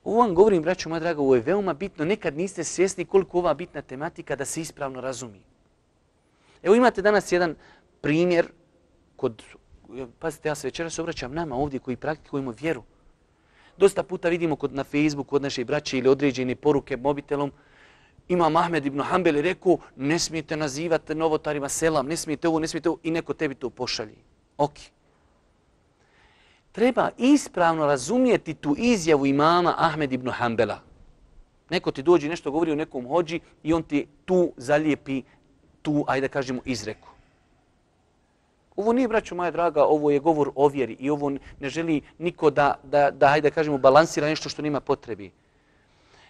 Ovo vam govorim, braćo moja draga, ovo je veoma bitno. Nekad niste svjesni koliko ova bitna tematika da se ispravno razumije. Evo imate danas jedan primjer pazite, ja se večeras obraćam nama ovdje koji praktikujemo vjeru. Dosta puta vidimo na Facebooku kod naše braće ili određene poruke mobitelom. Imam Ahmed ibn Hanbel je rekao, ne smijete nazivati novotarima selam, ne smijete ovo, i neko tebi to pošalji. Ok. Treba ispravno razumijeti tu izjavu imama Ahmed ibn Hanbela. Neko ti dođe nešto govori o nekom hođi i on ti tu zalijepi tu, ajde da kažemo, izreku. Ovo nije, braćo moja draga, ovo je govor o vjeri i ovo ne želi niko da ajde da kažemo, balansira nešto što nema potrebi.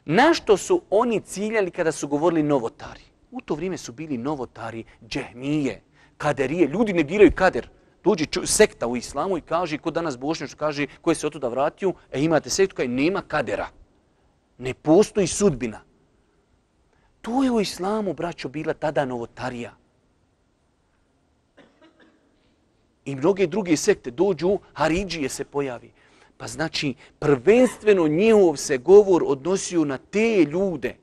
Na što su oni ciljali kada su govorili novotari? U to vrijeme su bili novotari, džehmije, kaderije. Ljudi negiraju kader. Dođe sekta u islamu i kaže, ko danas Bošnjač kaže, ko je se otuda vratio, imate sektu koja nema kadera. Ne postoji sudbina. To je u islamu, braćo, bila tada novotarija. I mnoge druge sekte dođu, Haridžije se pojavi. Pa znači, prvenstveno njihov se govor odnosio na te ljude.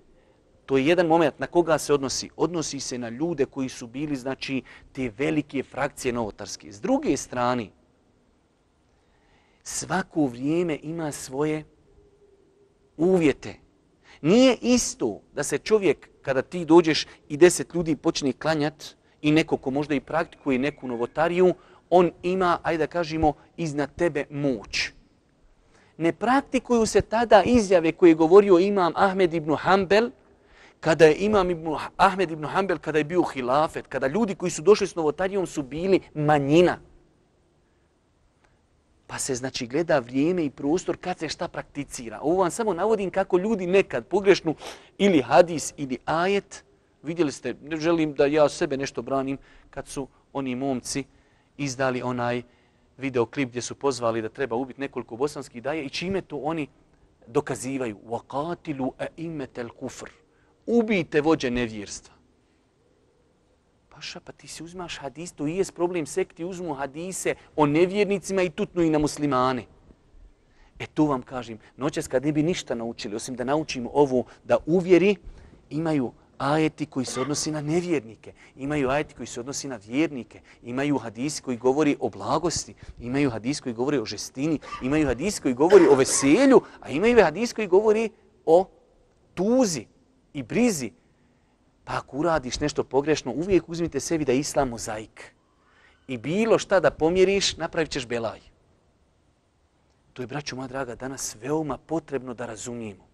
To je jedan moment na koga se odnosi. Odnosi se na ljude koji su bili, znači, te velike frakcije novotarske. S druge strane, svako vrijeme ima svoje uvjete. Nije isto da se čovjek, kada ti dođeš i 10 ljudi počne klanjat i neko ko možda i praktikuje neku novotariju, on ima, ajde da kažemo, iznad tebe moć. Ne praktikuju se tada izjave koje je govorio imam Ahmed ibn Hanbel, kada je Ahmed ibn Hanbel, kada je bio hilafet, kada ljudi koji su došli s novotarijom su bili manjina. Pa se znači gleda vrijeme i prostor kad se šta prakticira. Ovo vam samo navodim kako ljudi nekad pogrešnu ili hadis ili ajet, vidjeli ste, ne želim da ja sebe nešto branim, kad su oni momci izdali onaj videoklip gdje su pozvali da treba ubiti nekoliko bosanskih daja i čime to oni dokazivaju. وَقَاتِلُوا أَئِمَّةَ الْكُفْرِ Ubijte vođe nevjerstva. Paša, pa ti si uzmaš hadis, to i je problem sekti, uzmu hadise o nevjernicima i tutnu i na muslimane. To vam kažem, noćas kad ne bi ništa naučili, osim da naučimo ovo, da uvjeri, imaju ajeti koji se odnosi na nevjernike, imaju ajeti koji se odnosi na vjernike, imaju hadisi koji govori o blagosti, imaju hadisi koji govori o žestini, imaju hadisi koji govori o veselju, a imaju hadisi koji govori o tuzi i brizi. Pa ako uradiš nešto pogrešno, uvijek uzmite sebi da je islam mozaik. I bilo šta da pomjeriš, napravit ćeš belaj. To je, braćo moja draga, danas veoma potrebno da razumijemo.